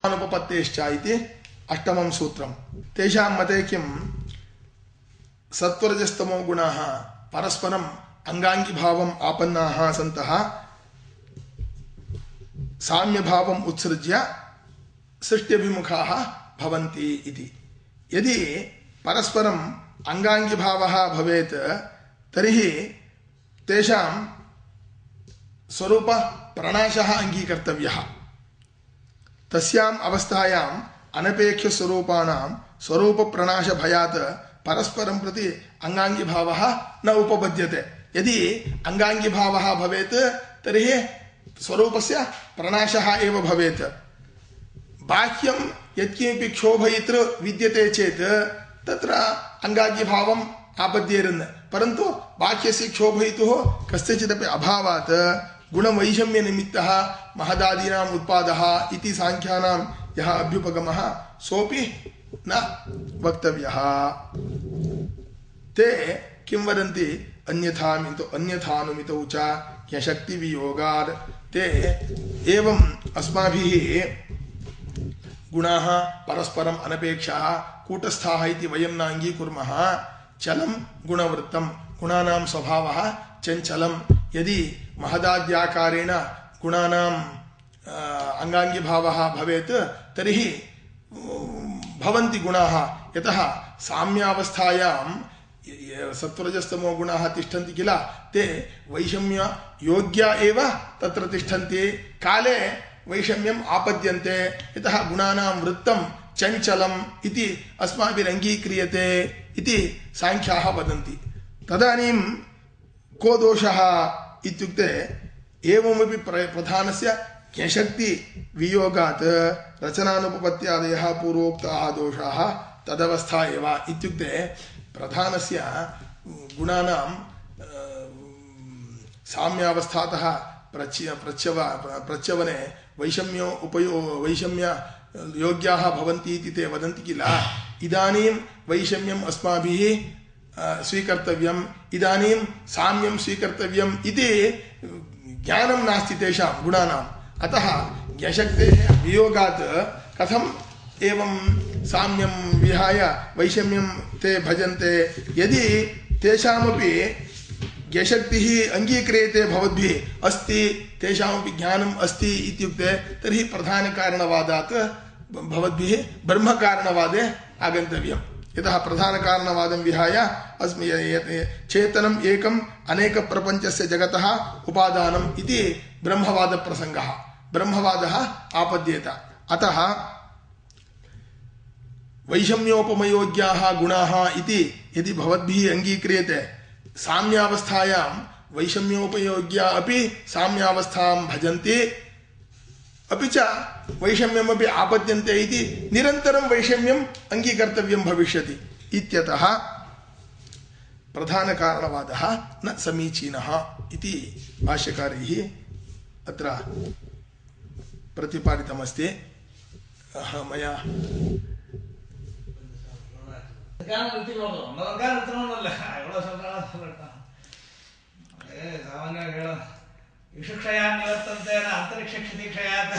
अनुपपत्तेश्च इति अष्टमं सूत्रं। तेषां मते किं सत्वरजस्तमो गुणाः परस्परम् अंगांगिभावम् आपन्नाः सन्तः साम्यभावम् उत्सृज्य सृष्ट्यभिमुखाः भवन्ति इति। यदि परस्परम् अंगांगिभावः भवेत् तर्हि तेषां स्वरूप प्रणाशः अंगीकर्तव्यः। तस्याम् अवस्थायाम् अनपेक्ष स्वरूपाणां स्वरूप प्रणाश भयात् परस्परं प्रति अंगांगिभावः न उपपद्यते। यदि अंगांगिभावः भवेत् तर्हि स्वरूपस्य प्रणाशः एव भवेत्। बाह्यं यत्किमपि क्षोभयितृ विद्यते चेत् तत्र अंगांगिभावम् आपद्येरन्, परन्तु बाह्यस्य क्षोभयितुः कस्यचिदपि अभावात् गुणवैषम्यनिमित्तः महदादीनाम् उत्पादः इति सांख्यानां यः अभ्युपगमः सोऽपि न वक्तव्यः। ते किं वदन्ति अन्यथानुमितौ च ह्यशक्तिवियोगात्। ते एवम् अस्माभिः गुणाः परस्परम् अनपेक्षाः कूटस्थाः इति वयं न अङ्गीकुर्मः। चलं गुणवृत्तं, गुणानां स्वभावः चञ्चलं। यदि महदाद्याकारेण गुणानाम् अंगांगिभावः भवेत् तर्हि भवन्ति गुणाः। यतः साम्यावस्थायां सत्वरजस्तमो गुणाः तिष्ठन्ति किल, ते वैषम्य योग्या एव तत्र तिष्ठन्ति। काले वैषम्यम् आपद्यन्ते, यतः गुणानां वृत्तं चञ्चलम् इति अस्माभिरङ्गीक्रियते इति सांख्याः वदन्ति। तदानीं को दोषः इत्युक्ते एवमपि प्रधानस्य ज्ञशक्ति वियोगात् रचनानुपपत्त्यादयः पूर्वोक्ताः दोषाः तदवस्था एव। इत्युक्ते प्रधानस्य गुणानां साम्यावस्थातः प्रच्यवने वैषम्य योग्याः भवन्ति इति ते वदन्ति किल। इदानीं वैषम्यम् अस्माभिः स्वीकर्तव्यम्, इदानीं साम्यं स्वीकर्तव्यम् इति ज्ञानं नास्ति तेषां गुणानाम्। अतः ज्ञशक्तेः वियोगात् कथम् एवं साम्यं विहाय वैषम्यं ते भजन्ते। यदि तेषामपि ज्ञशक्तिः अङ्गीक्रियते भवद्भिः अस्ति, तेषामपि ज्ञानम् अस्ति इत्युक्ते तर्हि प्रधानकारणवादात् भवद्भिः ब्रह्मकारणवादे आगन्तव्यम्। यतः प्रधानकारणवादं विहाय चेतनम् एकम् अनेकप्रपञ्चस्य जगतः उपादानम् इति ब्रह्मवादप्रसङ्गः, ब्रह्मवादः आपद्येत। अतः वैषम्योपमयोग्याः गुणाः इति यदि भवद्भिः अङ्गीक्रियते, साम्यावस्थायां वैषम्योपयोग्या अपि साम्यावस्थां भजन्ति, अपि च वैषम्यमपि आपद्यन्ते इति निरन्तरं वैषम्यम् अङ्गीकर्तव्यं भविष्यति। इत्यतः प्रधानकारणवादः न समीचीनः इति भाष्यकारैः अत्र प्रतिपादितमस्ति। मया विषुक्षया निवर्तन्ते अंतरिक्षक्षतिक्षयात्